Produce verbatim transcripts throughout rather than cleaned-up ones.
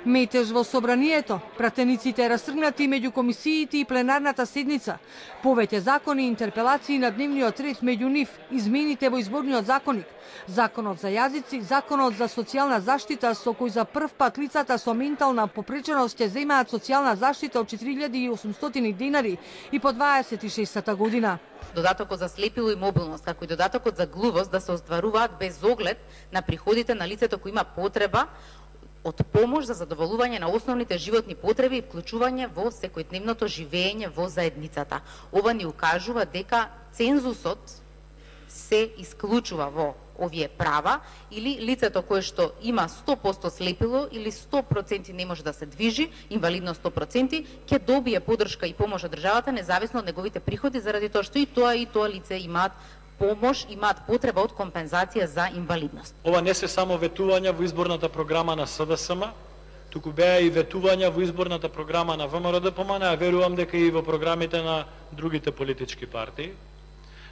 Метеж во собранието, пратениците растргнати меѓу комисиите и пленарната седница, повеќе закони и интерпелации на дневниот ред, меѓу нив измените во изборниот законник, законот за јазици, законот за социјална заштита со кој за прв пат лицата со ментална попреченост ќе земаат социјална заштита од четири илјади и осумстотини денари и по дваесет и шестата година. Додатокот за слепило и мобилност, како и додатокот за глувост да се остваруваат без оглед на приходите на лицето кој има потреба од помош за задоволување на основните животни потреби и вклучување во секојдневното живење во заедницата. Ова ни укажува дека цензусот се исклучува во овие права или лицето кое што има сто проценти слепило или сто проценти не може да се движи, инвалидност сто проценти, ќе добие поддршка и помош од државата независно од неговите приходи, заради тоа што и тоа и тоа лице имаат помош, имаат потреба од компензација за инвалидност. Ова не се само ветувања во изборната програма на СДСМ, туку беа и ветувања во изборната програма на ВМРО-ДПМН, а верувам дека и во програмите на другите политички партии.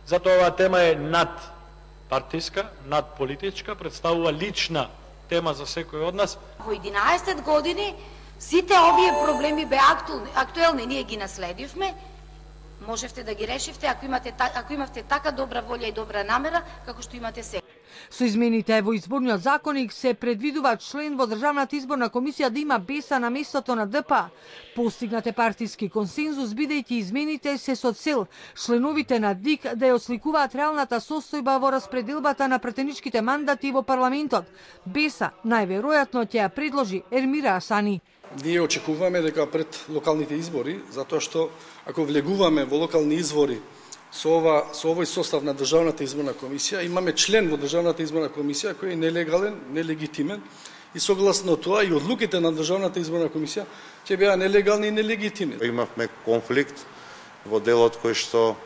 Затоа оваа тема е над партиска, над политичка, представува лична тема за секој од нас. Во единаесет години сите овие проблеми беа актуелни, ние ги наследивме. Можевте да ги решивте ако имате ако имавте така добра волја и добра намера како што имате сега. Со измените во изборниот законник се предвидува член во Државната изборна комисија да има Беса на местото на ДП. Постигнате партиски консензус бидејќи измените се со цел членовите на ДИК да ја осликуваат реалната состојба во распределбата на пратеничките мандати во парламентот. Беса најверојатно ќе ја предложи Ермира Асани. Ние очекуваме дека пред локалните избори, затоа што ако влегуваме во локални избори со ова со овој состав на Државната изборна комисија, имаме член во Државната изборна комисија кој е нелегален, нелегитимен и согласно тоа и одлуките на Државната изборна комисија ќе беа нелегални и нелегитимни. Имавме конфликт во делот кој што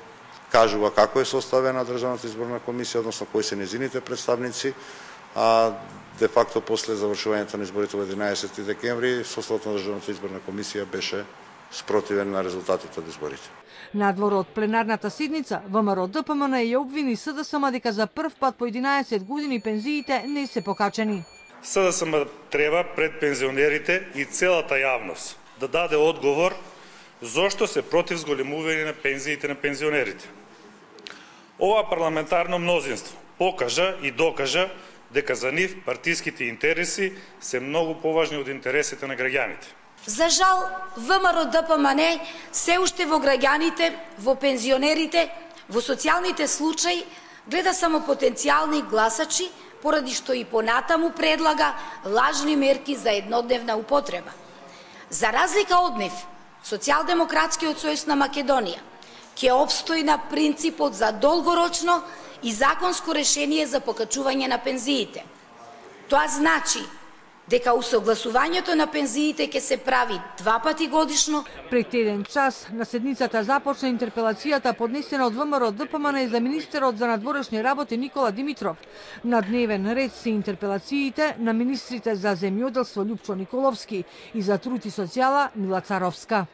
кажува како е составена Државната изборна комисија, односно кои се незините представници, а де факто после завршувањето на изборите во единаесети декември составот на Државната изборна комисија беше спротивен на резултатите од изборите. Надвор од пленарната седница, ВМРО-ДПМН ја обвини СДСМ дека за прв пат по единаесет години пензиите не се покачени. СДСМ треба пред пензионерите и целата јавност да даде одговор зошто се против зголемување на пензиите на пензионерите. Ова парламентарно мнозинство покажа и докажа дека за нив партиските интереси се многу поважни од интересите на граѓаните. За жал, ВМРО-ДПМН се уште во граѓаните, во пензионерите, во социјалните случаи гледа само потенцијални гласачи, поради што и понатаму предлага лажни мерки за еднодневна употреба. За разлика од нив, Социјалдемократскиот сојуз на Македонија ќе обстои на принципот за долгорочно и законско решение за покачување на пензиите. Тоа значи дека усогласувањето на пензиите ќе се прави два пати годишно. Пред еден час на седницата започна интерпелацијата поднесена од ВМРО-ДПМН за министерот за надворешни работи Никола Димитров. На дневен ред се интерпелациите на министрите за земјоделство Љупчо Николовски и за труд и социјала Мила Царовска.